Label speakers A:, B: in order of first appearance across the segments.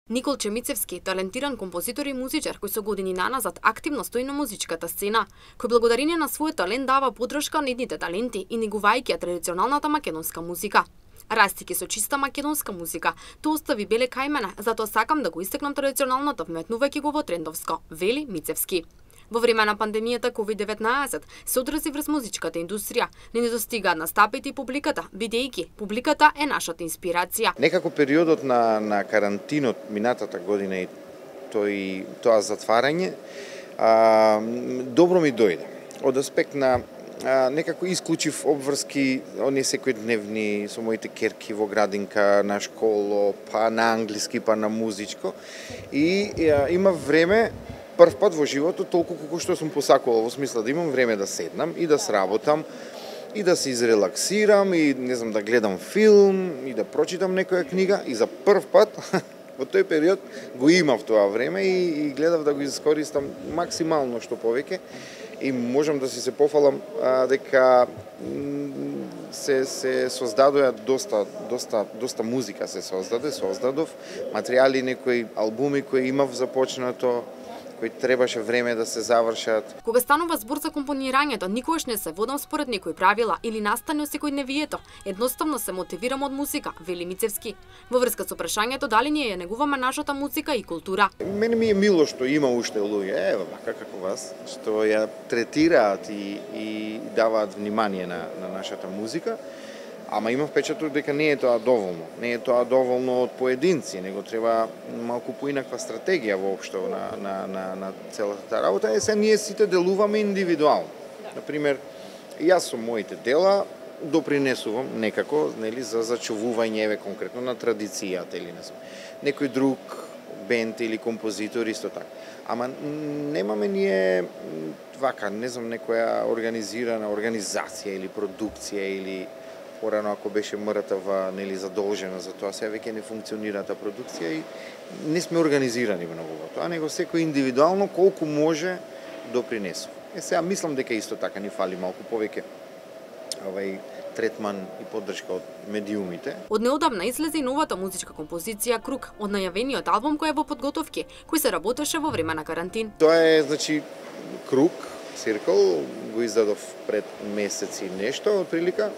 A: Николче Мицевски, талентиран композитор и музичар кој со години наназад активно стои на музичката сцена, кој благодарение на својот талент дава подршка на идните таленти и негувајќи ја традиционалната македонска музика. Растики со чиста македонска музика, тоа остави беле кај мене, затоа сакам да го истакнам традиционалното вметнувајќи го во трендовско, вели Мицевски. Во време на пандемијата COVID-19 се одрази врз музичката индустрија. Не недостигаат настапите и публиката, бидејќи публиката е нашата инспирација.
B: Некако периодот на карантинот минатата година и тоа затварање добро ми дојде. Од аспект на некако исклучив обврски, оние секојдневни со моите керки во градинка, на школо, па на англиски, па на музичко. И има време прв пат во животот толку колку што сум посакувал, во смисла да имам време да седнам и да сработам и да се изрелаксирам и не знам да гледам филм и да прочитам некоја книга и за прв пат во тој период го имав тоа време и гледав да го искористам максимално што повеќе и можам да си се пофалам дека се создадоа доста музика се создадов материјали, некои албуми кои имав започнато, кои требаше време да се завршат.
A: Кога станува збор за компонирањето, никогаш не се водам според некои правила или настани од секојдневието. Едноставно се мотивирам од музика, вели Мицевски. Во врска со прашањето дали ние ја негуваме нашата музика и култура.
B: Мене ми е мило што има уште луѓе, вака како вас, што ја третираат и даваат внимание на нашата музика. Ама имам впечаток дека не е тоа доволно. Не е тоа доволно од поединци, него треба малку поинаква стратегија воопшто на целата таа работа. Се ние сите делуваме индивидуално. Например, јас со моите дела допринесувам некако, нели, за зачувување конкретно на традицијата или не знам. Некој друг бенд или композитор исто така. Ама немаме ние вака, не знам, некоја организирана организација или продукција или порано ако беше МРТВ нели задолжена за тоа, сега веќе не функционира таа продукција и не сме организирани многу во тоа, него секој индивидуално колку може допринесува. Сега мислам дека исто така ни фали малку повеќе третман и поддршка од медиумите.
A: Од неодамна излезе и новата музичка композиција Круг, од најавениот албум кој е во подготовки, кој се работеше во време на карантин.
B: Тоа е, значи, Круг, Circle, го издадов пред месеци нешто, отприлика.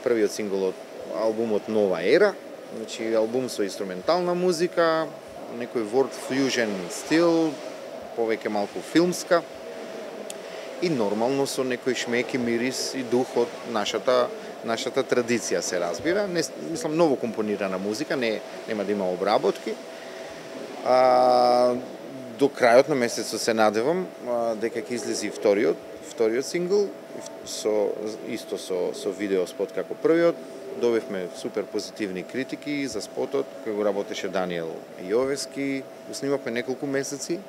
B: Првиот сингл од албумот Нова ера, значи албум со инструментална музика, некој world fusion стил, повеќе малку филмска и нормално со некој шмек и мирис и дух од нашата традиција се разбира. Мислам ново компонирана музика, нема да има обработки. До крајот на месецот се надевам дека ќе излези вториот сингл со видео спот како првиот. Добивме супер позитивни критики за спотот кој го работеше Даниел Јовески. Го снимавме неколку месеци,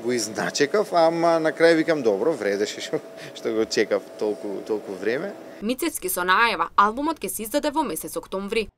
B: го изначекав, ама на крај викам добро, вредеше што го чекав толку време.
A: Мицевски со најава албумот ќе се издаде во месец октомври.